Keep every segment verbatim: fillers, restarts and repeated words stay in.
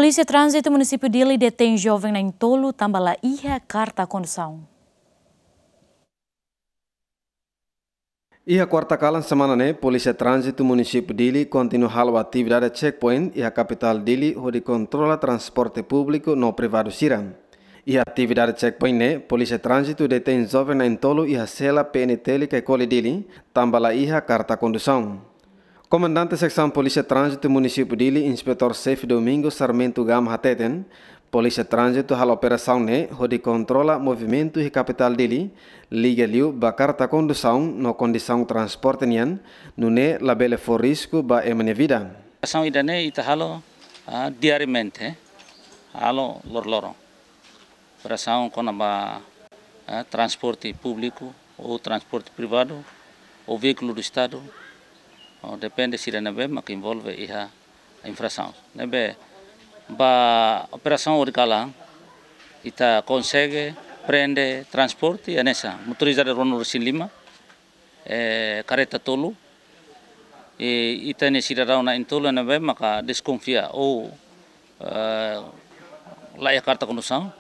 Polísia Tránzitu Munisípiu Dili detein joven na'in-tolu tanba la iha karta kondusaun. Iha kuarta kalan semana ne'e, Polísia Tránzitu Munisípiu Dili kontinua halo atividade checkpoint iha kapitál Dili hodi kontrola transporte públiku no privadu sira. Iha atividade checkpoint ne'e, Polísia Tránzitu detein joven na'in-tolu iha sela P N T L Caicoli Dili, tanba la iha karta kondusaun. Komandante Seksaun Polísia Tránzitu Munisípiu Dili, Inspetór Xefe Domingos Sarmento Gama hateten, Polísia Tránzitu halo operasaun ne'e hodi kontrola movimentu iha kapitál Dili, liga liu ba karta kondusaun no kondisaun transporte nian, nune'e labele fó risku ba ema nia vida. Operasaun ida-ne'e ita halo, ah, diariamente, halo loroloron. Operasaun kona-ba, eh, transporte públiku ou transporte privadu ou veíkulu do Estadu, ou depende sira ne'ebé maka envolve iha infrasaun. Ne'ebé ba operasaun ohin kalan, ita konsege prende transporte hanesan motorizada rua-nulu-resin-lima, eh, kareta tolu, i ita-nia sidadaun na'in-tolu ne'ebé maka deskonfia ou, eh, la iha karta kondusaun,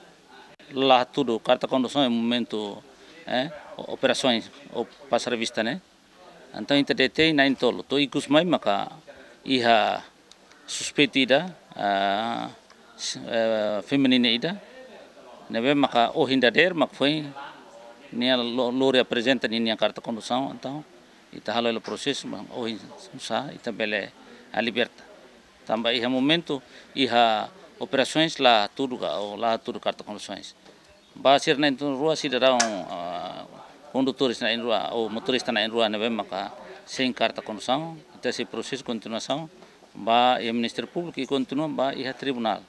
la hatudu karta kondusaun iha momentu, eh, operasaun ou pasa revista ne'e. Entaun ita detein na'in-tolu, to'o ikus mai maka iha suspeitu ida, ah, s-, eh, feminina ida, ne'ebé maka ohin dadeer mak foin nia lo-, lori aprezenta ninia karta kondusaun, entaun ita halo hela prosesu, mas ohin sá ita bele, ah, liberta. Tanba iha momentu iha operasaun la hatudu ka, ou la hatudu karta kondusaun. Ba sira na'in-tolu rua sidadaun, ah, kondutores na'in-rua ou motorista na'in-rua ne'ebé maka sein karta kondusaun, ita sei prosesu kontinuasaun ba iha Ministériu Públiku i kontinua ba iha tribunál.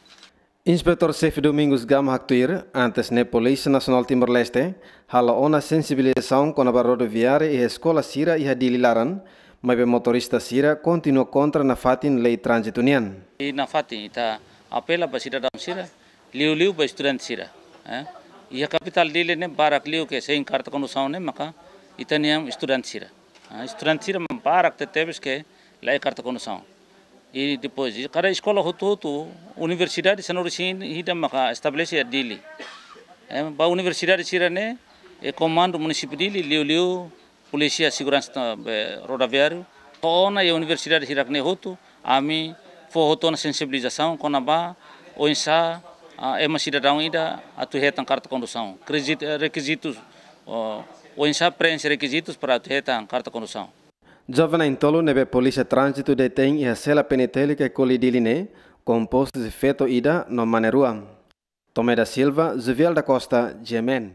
Inspetór Xefe Domingos Gama haktuir, antes ne'e Polísia Nasionál Timor-Leste halo ona sensibilizasaun kona-ba rodoviária iha eskola sira iha Dili laran, maibé motorista sira kontinua kontra nafatin lei tránzitu nian. I nafatin ita apela ba sidadaun sira, liuliu ba estudante sira, eh. Iha kapitál Dili ne'e barak liu ke sein karta kondusaun ne'e maka ita-nia estudante sira. Ah, estudante sira mak barak tebetebes ke la iha karta kondusaun. I depois, kada eskola hotu-hotu, universidade sanulu-resin-ida maka estabelese iha Dili. Eh, ba universidade sira-ne'e, eh, komandu munisípiu Dili, liuliu Polísia Seguransa, eh, Rodoviáriu, to'o ona iha universidade hirak-ne'e hotu, ami fó hotu ona sensibilizasaun kona-ba oinsá, ah, ema sidadaun ida atu hetan karta kondusaun. Krezit-, eh, rekizitus, oh, oinsá preenxe rekizitus para atu hetan karta kondusaun. Joven na'in-tolu ne'ebé Polísia Tránzitu detein iha sela P N T L Caicoli Dili ne'e kompostu husi feto ida no mane rua. Tomé da Silva, Juvial da Costa, G M N.